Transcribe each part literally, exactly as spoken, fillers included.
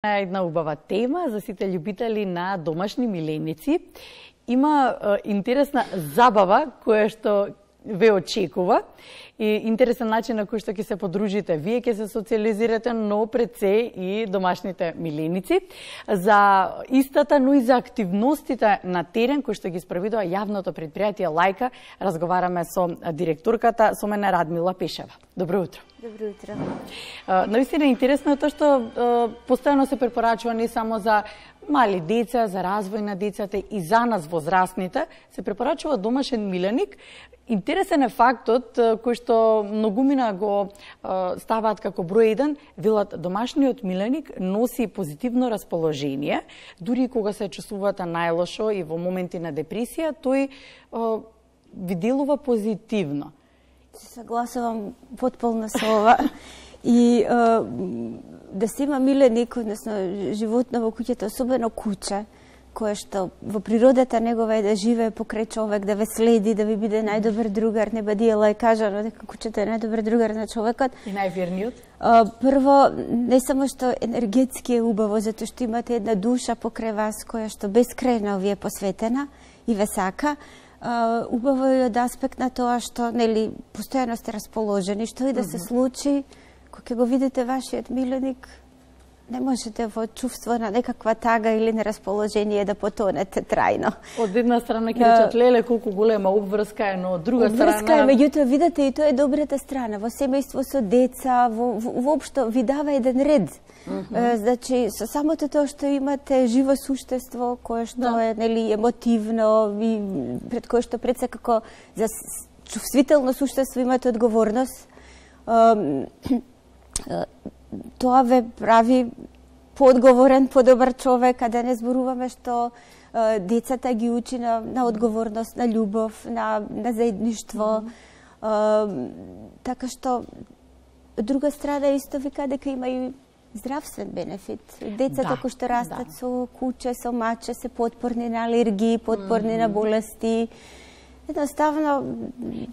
Една убава тема за сите љубители на домашни миленици. Има е, интересна забава која што ве очекува и интересен начин на кој што ќе се подружите. Вие ќе се социализирате, но пред се и домашните миленици. За истата, но и за активностите на терен кои што ги спроведува јавното предпријатие Лајка, разговараме со директорката, со мене Радмила Пешева. Добро утро. Добро утро. Навистина интересно е тоа што постојано се препорачува не само за мали деца, за развој на децата и за нас возрастните, се препорачува домашен миленик. Интересен е фактот кој што многумина го ставаат како број еден, велат домашниот миленик носи позитивно расположение, дури кога се чувствувате најлошо и во моменти на депресија, тој ви делува позитивно. Се согласувам потполно со ова. И а, да се има миленик, односно животно во куќата, особено куче, кое што во природата негова е да живее покрај човек, да ве следи, да ви биде најдобар другар, не бадиела е кажано дека кучето е најдобар другар на човекот. И најверниот? А, прво, не само што енергетски е убаво, затоа што имате една душа покрај вас која што бескрајно ви е посветена и ве сака. Uh, убаво е од аспект на тоа што, нели, постојано сте расположени, што и да се случи, кога го видите вашиот миленик, не можете во чувство на некаква тага или нерасположение да потонете трајно. Од една страна ќе речат, леле, колку голема обврска е, но од друга страна... Обврска е, меѓутоа, видите, и тоа е добрата страна. Во семејство со деца, во, во, воопшто ви дава еден ред. Mm -hmm. Значи, со самото тоа што имате живо суштество, кое што да. е, нели, емотивно, и пред кое што пред се како за чувствително суштество имате одговорност, тоа ве прави поодговорен, подобар човек, а да не зборуваме што е, децата ги учи на, на одговорност, на љубов, на, на заедништво. Mm-hmm. е, така што, од друга страна, исто вика дека има и здравствен бенефит. Децата да, кои што растат да. со куче, со маче, се потпорни на алергии, потпорни mm-hmm. на болести. Едноставно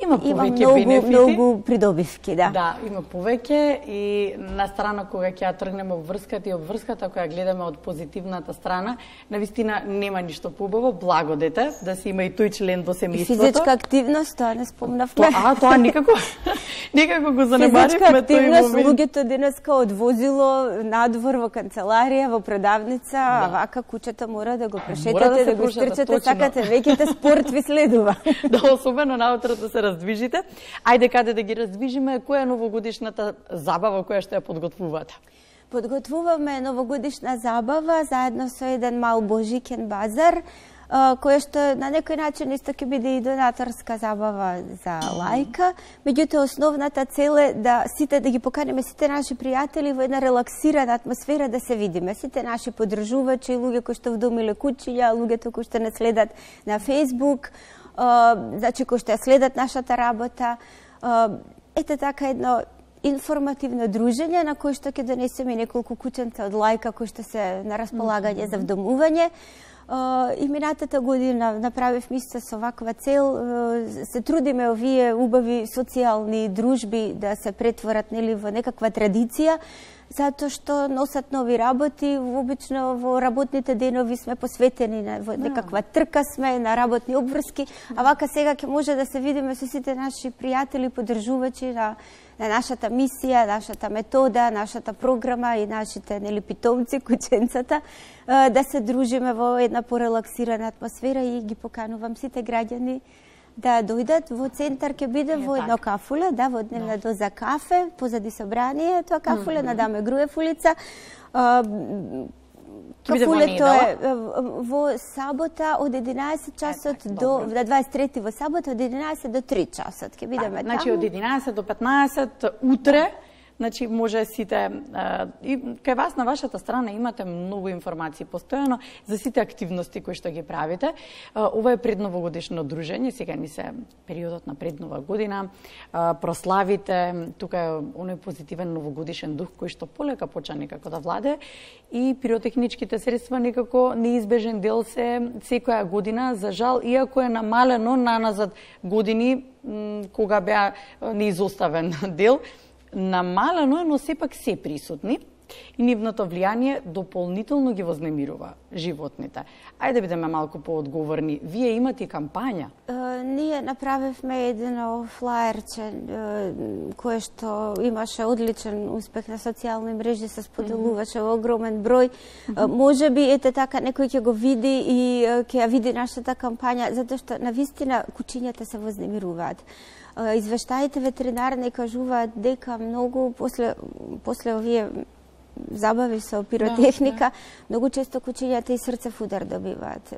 има, има многу, бенефити. многу придобивки, да. Да, има повеќе и на страна кога ќе ја тргнеме обврската и обврската која гледаме од позитивната страна, навистина нема ништо побаво, благодете, да се има и тој член во семејството. И физичка активност, тоа не спомнавме. А, тоа никако, никако го занемаривме тој момент. Физичка активност, луѓето денеска од возило, надвор, во канцеларија, во продавница, да. а вака кучето мора да го прешетате, да, да го штрчате, сакате, веќите спорт ви следува. Да, особено наутро да се раздвижите. Ајде каде да ги раздвижиме, која е новогодишната забава која што ја подготвувате? Подготвуваме новогодишна забава заедно со еден мал божикен базар, која што на некој начин исто ќе биде и донаторска забава за Лајка. Меѓутоа, основната цел е да сите да ги поканеме сите наши пријатели во една релаксирана атмосфера да се видиме. Сите наши поддржувачи, луѓе кои што вдомиле кучиња, луѓето кои што не следат на Facebook, Uh, значи кои што ја следат нашата работа. Uh, ете така едно информативно дружење на кој што ќе донесеме неколку кученца од Лајка кои што се на располагање mm -hmm. за вдомување. Uh, и минатата година направивме исто со ваква цел. Uh, се трудиме овие убави социјални дружби да се претворат, нели, во некаква традиција, затоа што носат нови работи. Обично во работните денови сме посветени на во некаква трка сме, на работни обврски, а вака сега ќе може да се видиме со сите наши пријатели, поддржувачи на, на нашата мисија, нашата метода, нашата програма и нашите, нели, питомци, кученцата, да се дружиме во една порелаксирана атмосфера и ги поканувам сите граѓани да дојдат. Во центар ќе биде во едно кафуле, да, во дневна да. доза кафе, позади собрание, тоа кафуле mm -hmm. на Даме Груев улица. Кафулето е во сабота од единаесет часот е, до добро. дваесет и трети во сабота од единаесет до три часот ќе бидеме таму. Значи од единаесет до петнаесет утре. Значи, може сите, и кај вас на вашата страна имате многу информации постојано за сите активности кои што ги правите. Ова е предновогодишно дружење, сега ни се периодот на преднова година, прославите, тука е оној позитивен новогодишен дух кој што полека почна некако да владе и пиротехничките средства некако неизбежен дел се секоја година, за жал, иако е намалено наназад години кога беа неизоставен дел, намалено, но сепак се присутни. И нивното влијание дополнително ги вознемирува животните. Ајде да бидеме малку поодговорни. Вие имате кампања? Uh, ние направивме едно флаерче uh, кое што имаше одличен успех на социјални мрежи, се споделуваше во огромен број. Uh, може би ете така некој ќе го види и uh, ќе ја види нашата кампања, затоа што навистина кучињата се вознемируваат. Uh, извештаите ветеринарни кажуваат дека многу после после овие забави со пиротехника, да, да. Многу често кучињата и срцев удар добиваат.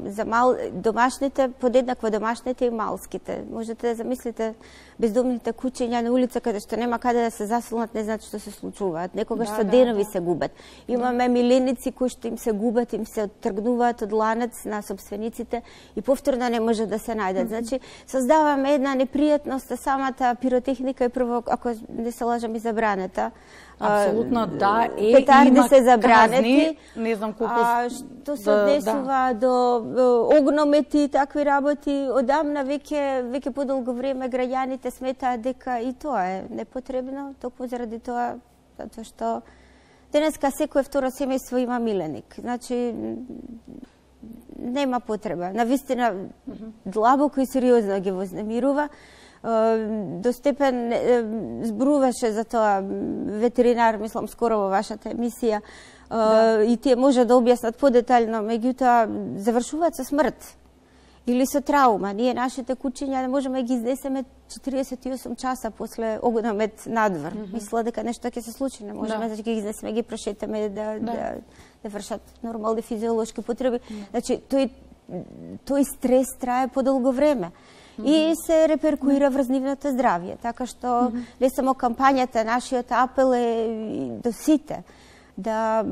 За мал домашните, подеднакво домашните и малските. Можете да замислите бездомните кучиња на улица каде што нема каде да се засилнат, не знаат што се случуваат. Некогаш да, со денови да, се губат. Имаме да. миленици кои што им се губат, им се оттргнуваат од ланец на собствениците и повторно не може да се најдат. Mm -hmm. Значи, создаваме една непријатност, а самата пиротехника е прво, ако не се лажам, и забраната. Апсолутно да, е, петарди има се забранети, казни, не знам колку... А што се однесува да. до огномети и такви работи, одамна веќе веќе подолго време граѓаните сметаат дека и тоа е непотребно, токму заради тоа, затоа што денеска секое второ семејство има миленик. Значи, нема потреба. Навистина, длабоко и сериозно ги вознемирува. До степен зборуваше за тоа ветеринар, мислам, скоро во вашата емисија, да. И тие може да објаснат подетално, меѓутоа завршуваат со смрт или со траума. Ние нашите кучиња не можеме да ги изнесеме четириесет и осум часа после огномет надвор. Mm -hmm. Мисла дека нешто ќе се случи, не можеме да, да ги изнесеме, ги прошетаме да, да. да, да вршат нормални физиолошки потреби. Mm. Значи, тој, тој стрес трае подолго време. Mm -hmm. И се реперкуира врз нивното здравје. Така што mm -hmm. не само кампањата, нашиот апел е до сите да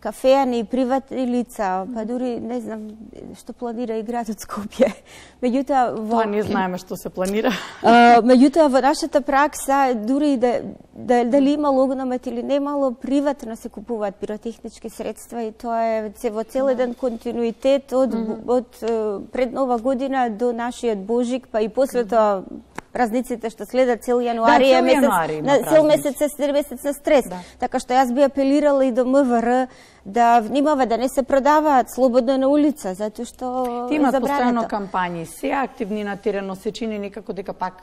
кафеани и приватни лица, па дури не знам што планира и градот Скопје. Меѓутоа во Тоа не знаеме што се планира. А, меѓутоа во нашата пракса дури да, да дали имало огномет или немало, приватно се купуваат пиротехнички средства и тоа е во цел еден континуитет од mm -hmm. од пред Нова година до нашиот Божик, па и после тоа празниците што следат цел јануари, да, цел месец, јануари на, цел месец е месец на стрес. Да. Така што јас би апелирала и до МВР да внимава да не се продаваат слободно на улица, затоа што имаат постојано кампањи, се активни на терено, се чини некако дека пак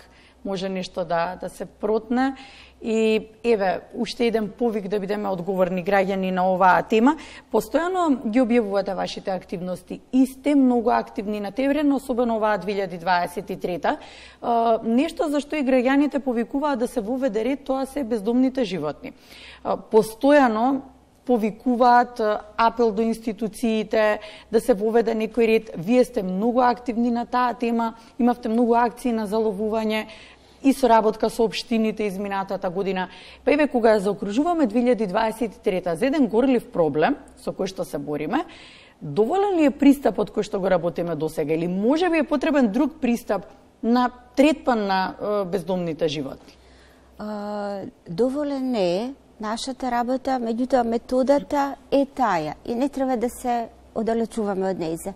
може нешто да да се протне. И еве, уште еден повик да бидеме одговорни граѓани на оваа тема. Постојано ги објавувате вашите активности и сте многу активни на терен, особено оваа две илјади дваесет и трета. Uh, нешто за што и граѓаните повикуваат да се воведе ред, тоа се бездомните животни. Uh, постојано повикуваат апел до институциите да се воведе некој ред. Вие сте многу активни на таа тема, имавте многу акции на заловување и соработка со општините изминатата година. Па еве, кога ја заокружуваме две илјади дваесет и трета за еден горлив проблем со кој што се бориме, доволен ли е пристапот кој што го работиме досега или може би е потребен друг пристап на третман на е, бездомните животни? А, доволен не е. Нашата работа, меѓутоа методата е таја и не треба да се оддалечуваме од нејзе.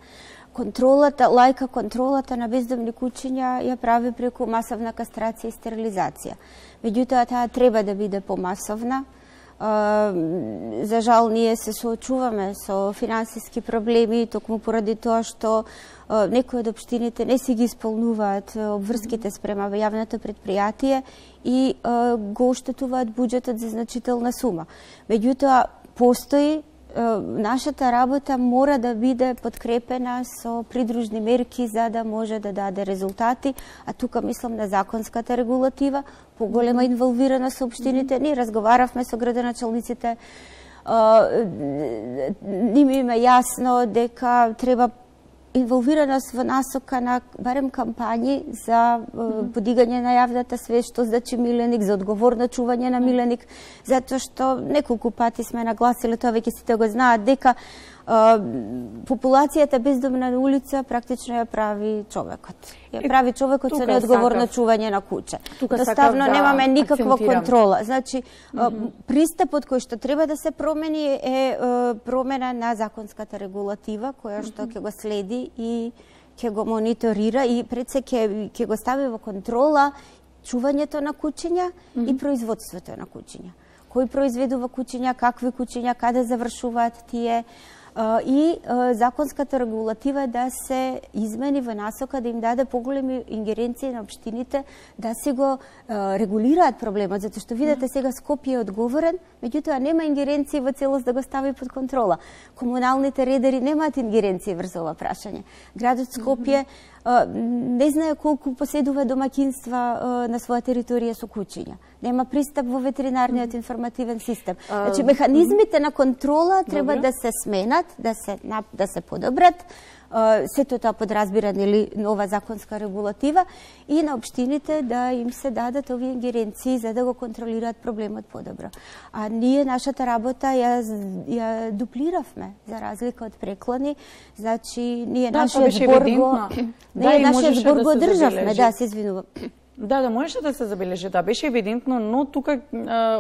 Контролата, лајка контролата на бездомни кучиња ја прави преку масовна кастрација и стерилизација. Меѓутоа таа треба да биде помасовна. За жал ние се соочуваме со финансиски проблеми токму поради тоа што некои од општините не си ги исполнуваат обврските спрема јавното предпријатие и го оштетуваат буџетот за значителна сума. Меѓутоа постои нашата работа мора да биде подкрепена со придружни мерки за да може да даде резултати, а тука мислам на законската регулатива, поголема инволвирана со општините. Ние разговаравме со градоначалниците, ними им е јасно дека треба инволвираност во насока на барем кампањи за подигање на јавната свест, што значи миленик, за одговорно чување на миленик, затоа што неколку пати сме нагласили, тоа веќе сите го знаат, дека а, популацијата бездомна на улица практично ја прави човекот. Ја прави човекот со неодговорно чување на куче. Доставно да немаме никаква акцентирам. контрола. Значи, mm -hmm. пристапот кој што треба да се промени е промена на законската регулатива, која што ќе го следи и ќе го мониторира и пред се ќе ќе го стави во контрола чувањето на кучиња mm -hmm. и производството на кучиња. кој произведува куќиња, какви куќиња, каде завршуваат тие, и законската регулатива да се измени во насока да им даде поголеми ингеренции на општините да се го регулираат проблемот, затоа што видите сега Скопје е одговорен, меѓутоа нема ингеренции во целост да го стави под контрола. Комуналните редери немаат ингеренции врз ова прашање. Градот Скопје не знае колку поседува домакинства на своја територија со куќиња. Нема пристап во ветеринарниот информативен систем. Значи, механизмите на контрола треба да се сменат, да се, да се подобрат. Сето тоа подразбира нели нова законска регулатива и на општините да им се дадат овие ингеренции за да го контролираат проблемот подобро. А ние нашата работа ја, ја дуплиравме за разлика од преклани, значи ние да, нашиот збор го ние да, нашиот збор да го државме, да, се извинувам. Да, да можеше да се забележи, да беше евидентно, но тука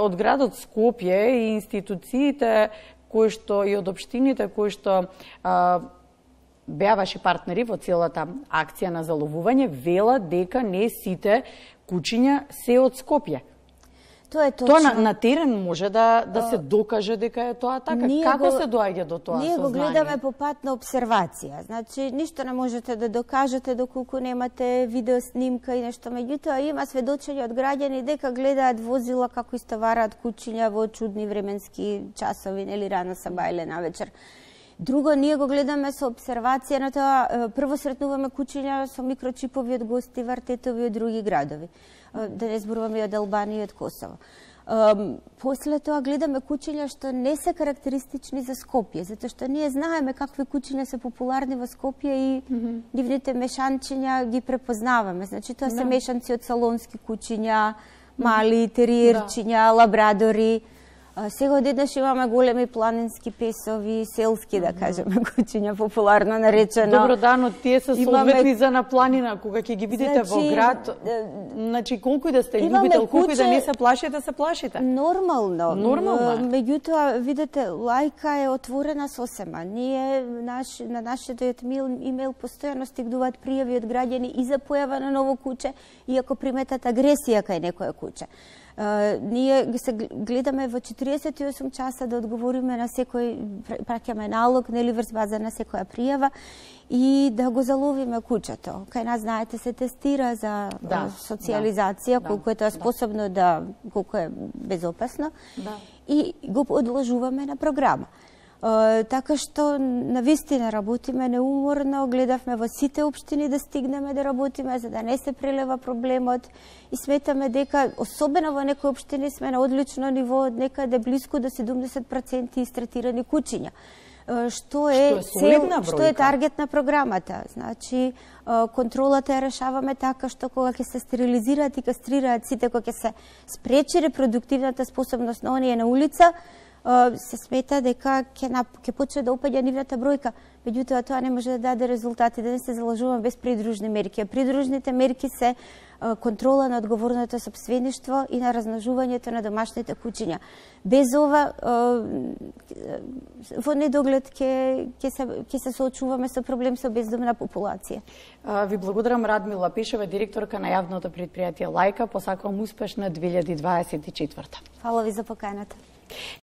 од градот Скопје и институциите кои што и од општините кои што а, беа ваши партнери во целата акција на заловување, велат дека не сите куќиња се од Скопје. Тоа е точно. Тоа на, на терен може да да се докаже дека е тоа така. Ние Како го, се доаѓа до тоа ние сознание? Ние го гледаме по пат на обсервација. Значи, ништо не можете да докажете доколку немате видео снимка и нешто. Меѓутоа, има сведочења од граѓани дека гледаат возила како истовараат куќиња во чудни временски часови, нели рано саба или навечер. Друго, ние го гледаме со обсервација на тоа, прво сретнуваме куќиња со микрочипови од гости, вартетови од други градови. Да не зборуваме и од Албанија и од Косово. После тоа гледаме куќиња што не се карактеристични за Скопје, затоа што ние знаеме какви куќиња се популарни во Скопје и mm -hmm. нивните мешанчиња ги препознаваме. Значи тоа се мешанци од салонски куќиња, мали териерчиња, лабрадори. Сега одеднаш имаме големи планински песови, селски, да кажеме, куќиња, популарно наречено. Добро, да, но тие се соодветни за на планина, кога ќе ги видите значи, во град. Значи, колку и да сте љубител, колку и да не се плашите, се плашите. Нормално. Нормално. Меѓутоа, видите, лајка е отворена сосема. Ние наш, на нашиот имейл постојано стигнуваат пријави од граѓани и за појава на ново куќе, и ако приметат агресија кај некое куќе. Uh, ние се гледаме во четириесет и осум часа да одговориме на секој, праќаме налог, нели врз база на секоја пријава и да го заловиме куќето. Кај нас, знаете, се тестира за да, социјализација, да, колку е тоа способно да, колку е безопасно, да. И го одложуваме на програма. Uh, така што навистина работиме неуморно, гледавме во сите општини да стигнеме да работиме за да не се прелева проблемот и сметаме дека особено во некои општини сме на одлично ниво, некаде блиску до седумдесет проценти истретирани куќиња. Uh, што е, што е, цел, што е таргет на програмата. Значи, uh, контролата ја решаваме така што кога ќе се стерилизираат и кастрираат сите, кога ќе се спречи репродуктивната способност на оние на улица, се смета дека ќе ќе почне да опаѓа нивната бројка, меѓутоа тоа не може да даде резултати, да не се залажуваме без придружни мерки. А придружните мерки се контрола на одговорното сопствеништво и на размножувањето на домашните куќиња. Без ова во недоглед ќе ќе се ќе се соочуваме со проблем со бездомна популација. Ви благодарам, Радмила Пишева, директорка на јавното претпријатие Лајка. Посакувам успешна две илјади дваесет и четврта. Фала ви за поканата.